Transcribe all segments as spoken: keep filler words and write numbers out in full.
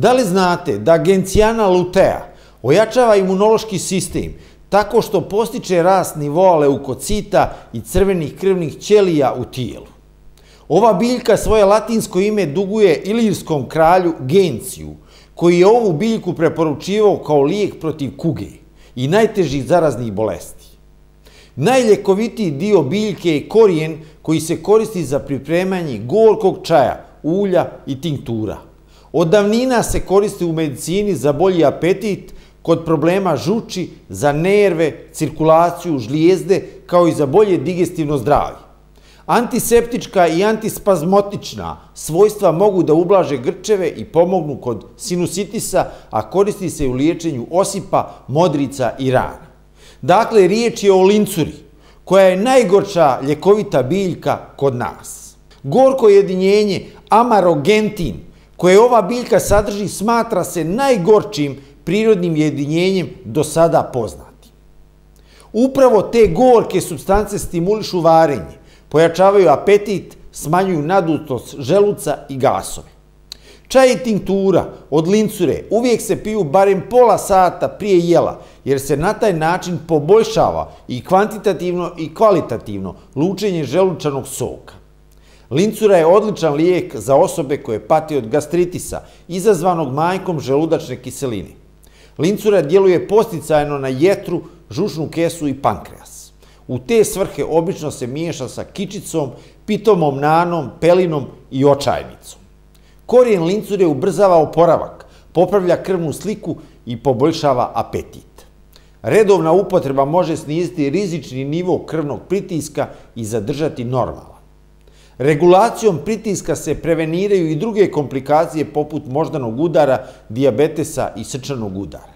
Da li znate da Gentiana lutea ojačava imunološki sistem tako što postiče rast nivoa leukocita i crvenih krvnih ćelija u tijelu? Ova biljka svoje latinsko ime duguje ilirskom kralju Genciju, koji je ovu biljku preporučivao kao lijek protiv kuge i najtežih zaraznih bolesti. Najljekovitiji dio biljke je korijen koji se koristi za pripremanje gorkog čaja, ulja i tinktura. Od davnina se koristi u medicini za bolji apetit, kod problema žuči, za nerve, cirkulaciju, žlijezde, kao i za bolje digestivno zdravlje. Antiseptička i antispazmotična svojstva mogu da ublaže grčeve i pomognu kod sinusitisa, a koristi se u liječenju osipa, modrica i rana. Dakle, riječ je o lincuri, koja je najgorča ljekovita biljka kod nas. Gorko jedinjenje amarogentin, koje ova biljka sadrži, smatra se najgorčim prirodnim jedinjenjem do sada poznatim. Upravo te gorke supstance stimulišu varenje, pojačavaju apetit, smanjuju nadutost želuca i gasove. Čaj i tinktura od lincure uvijek se piju barem pola sata prije jela, jer se na taj način poboljšava i kvantitativno i kvalitativno lučenje želučanog soka. Lincura je odličan lijek za osobe koje pate od gastritisa, izazvanog manjkom želudačne kiseline. Lincura djeluje podsticajno na jetru, žučnu kesu i pankreas. U te svrhe obično se miješa sa kičicom, pitomom nanom, pelinom i očajnicom. Korijen lincure ubrzava oporavak, popravlja krvnu sliku i poboljšava apetit. Redovna upotreba može sniziti rizični nivo krvnog pritiska i zadržati normalan. Regulacijom pritiska se preveniraju i druge komplikacije poput moždanog udara, dijabetesa i srčanog udara.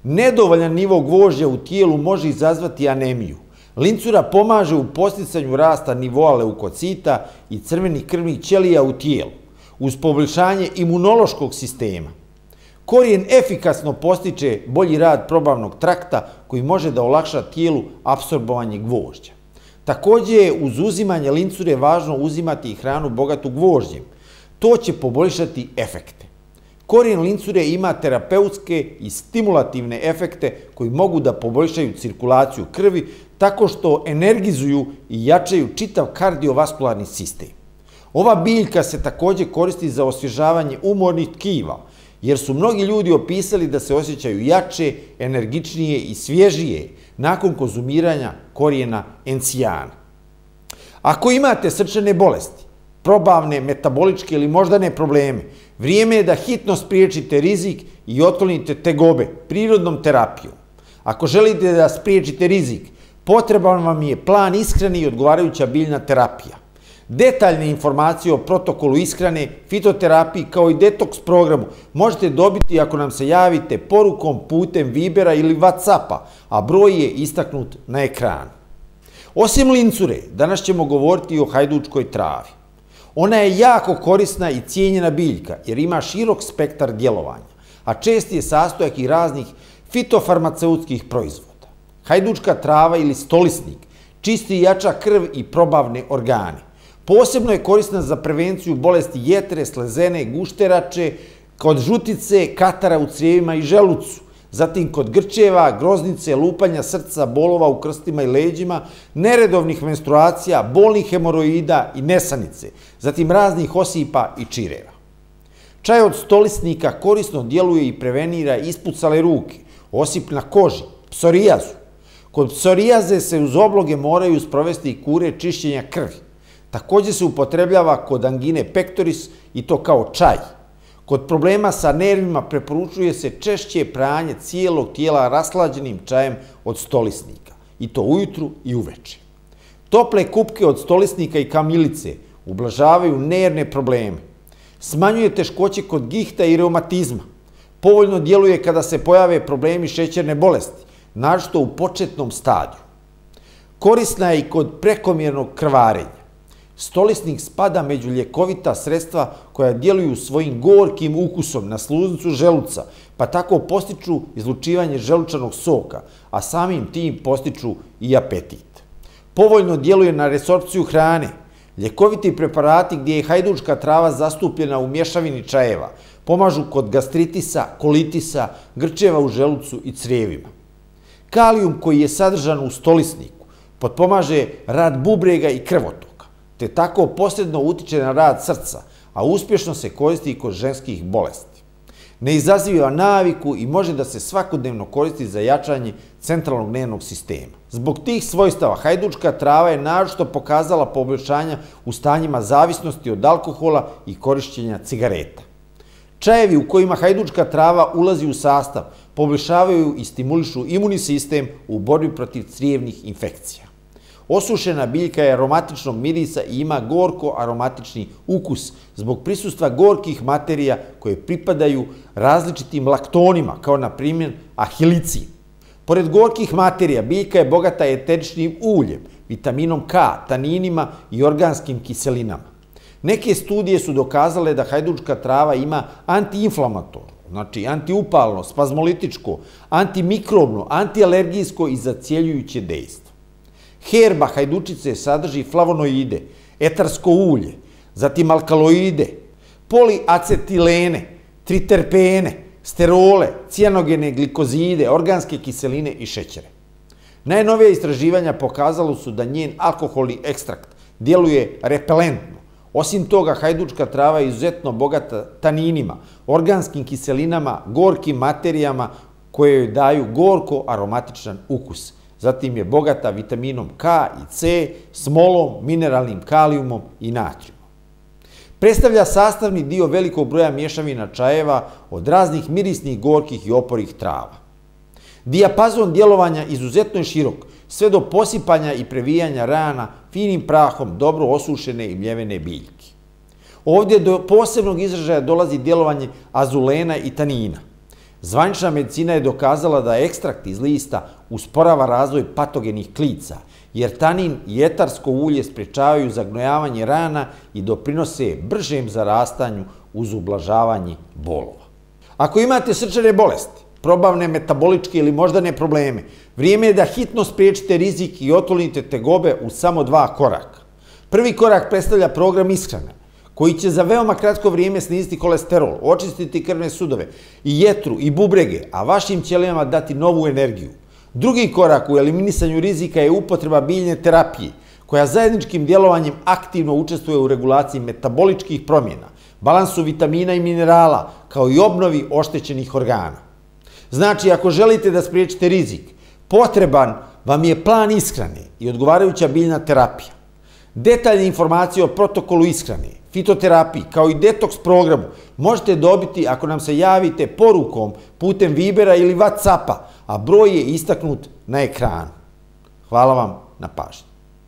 Nedovoljan nivo gvožđa u tijelu može izazvati anemiju. Lincura pomaže u podsticanju rasta nivoa leukocita i crvenih krvnih ćelija u tijelu, uz poboljšanje imunološkog sistema. Korijen efikasno postiče bolji rad probavnog trakta koji može da olakša tijelu apsorbovanje gvožđa. Također je uz uzimanje lincure važno uzimati i hranu bogatu gvožđem. To će poboljšati efekte. Korijen lincure ima terapeutske i stimulativne efekte koji mogu da poboljšaju cirkulaciju krvi tako što energizuju i jačaju čitav kardiovaskularni sistem. Ova biljka se također koristi za osvježavanje umornih tkiva, jer su mnogi ljudi opisali da se osjećaju jače, energičnije i svježije nakon konzumiranja korijena encijana. Ako imate srčane bolesti, probavne, metaboličke ili moždane probleme, vrijeme je da hitno spriječite rizik i otklonite tegobe prirodnom terapijom. Ako želite da spriječite rizik, potreban vam je plan ishrane i odgovarajuća biljna terapija. Detaljne informacije o protokolu ishrane, fitoterapiji kao i detoks programu možete dobiti ako nam se javite porukom putem Vibera ili Whatsappa, a broj je istaknut na ekranu. Osim lincure, danas ćemo govoriti o hajdučkoj travi. Ona je jako korisna i cijenjena biljka jer ima širok spektar djelovanja, a česti je sastojak i raznih fitofarmaceutskih proizvoda. Hajdučka trava ili stolisnik čisti i jača krv i probavne organe. Posebno je korisna za prevenciju bolesti jetre, slezene, gušterače, kod žutice, katara u crijevima i želucu, zatim kod grčeva, groznice, lupanja srca, bolova u krstima i leđima, neredovnih menstruacija, bolnih hemoroida i nesanice, zatim raznih osipa i čireva. Čaj od stolisnika korisno djeluje i prevenira ispucale ruke, osip na koži, psorijazu. Kod psorijaze se uz obloge moraju sprovesti i kure čišćenja krvi. Također se upotrebljava kod angine pectoris i to kao čaj. Kod problema sa nervima preporučuje se češće pranje cijelog tijela raslađenim čajem od stolisnika, i to ujutru i uveče. Tople kupke od stolisnika i kamilice ublažavaju nervne probleme. Smanjuje teškoće kod gihta i reumatizma. Povoljno djeluje kada se pojave problemi šećerne bolesti, naročito u početnom stadiju. Korisna je i kod prekomjernog krvarenja. Stolisnik spada među ljekovita sredstva koja djeluju svojim gorkim ukusom na sluznicu želuca, pa tako postiču izlučivanje želučanog soka, a samim tim postiču i apetit. Povoljno djeluje na resorpciju hrane. Ljekoviti preparati gdje je hajdučka trava zastupljena u mješavini čajeva pomažu kod gastritisa, kolitisa, grčeva u želucu i crijevima. Kalijum koji je sadržan u stolisniku potpomaže rad bubrega i krvotoka, te tako posredno utiče na rad srca, a uspješno se koristi i kod ženskih bolesti. Ne izaziva naviku i može da se svakodnevno koristi za jačanje centralnog nervnog sistema. Zbog tih svojstava hajdučka trava je naročito pokazala poboljšanja u stanjima zavisnosti od alkohola i korišćenja cigareta. Čajevi u kojima hajdučka trava ulazi u sastav poboljšavaju i stimulišu imunni sistem u borbi protiv crijevnih infekcija. Osušena biljka je aromatičnog mirisa i ima gorko-aromatični ukus zbog prisustva gorkih materija koje pripadaju različitim laktonima, kao na primjer ahilicin. Pored gorkih materija, biljka je bogata eteričnim uljem, vitaminom K, taninima i organskim kiselinama. Neke studije su dokazale da hajdučka trava ima antiinflamatorno, znači antiupalno, spazmolitičko, antimikrobno, antialergijsko i zacjeljujuće dejstvo. Herba hajdučice sadrži flavonoide, etarsko ulje, zatim alkaloide, poliacetilene, triterpene, sterole, cijanogene glikozide, organske kiseline i šećere. Najnovija istraživanja pokazalo su da njen alkoholni ekstrakt djeluje repelentno. Osim toga, hajdučka trava je izuzetno bogata taninima, organskim kiselinama, gorkim materijama koje joj daju gorko-aromatičan ukus. Zatim je bogata vitaminom K i C, smolom, mineralnim kalijumom i natrijumom. Predstavlja sastavni dio velikog broja mješavina čajeva od raznih mirisnih, gorkih i oporih trava. Dijapazon djelovanja izuzetno je širok, sve do posipanja i previjanja rana finim prahom dobro osušene i mljevene biljke. Ovdje do posebnog izražaja dolazi djelovanje azulena i tanina. Zvanična medicina je dokazala da ekstrakt iz lista usporava razvoj patogenih klica, jer tanin i etarsko ulje sprečavaju zagnojavanje rana i doprinose bržem zarastanju uz ublažavanje bolova. Ako imate srčane bolesti, probavne, metaboličke ili moždane probleme, vrijeme je da hitno spriječite rizik i otklonite tegobe u samo dva koraka. Prvi korak predstavlja program ishrane, koji će za veoma kratko vrijeme sniziti kolesterol, očistiti krvne sudove i jetru i bubrege, a vašim ćelijama dati novu energiju. Drugi korak u eliminisanju rizika je upotreba biljne terapije, koja zajedničkim djelovanjem aktivno učestvuje u regulaciji metaboličkih promjena, balansu vitamina i minerala, kao i obnovi oštećenih organa. Znači, ako želite da spriječite rizik, potreban vam je plan ishrane i odgovarajuća biljna terapija. Detaljne informacije o protokolu ishrane, fitoterapiji, kao i detoks programu možete dobiti ako nam se javite porukom putem Vibera ili WhatsAppa, a broj je istaknut na ekranu. Hvala vam na pažnji.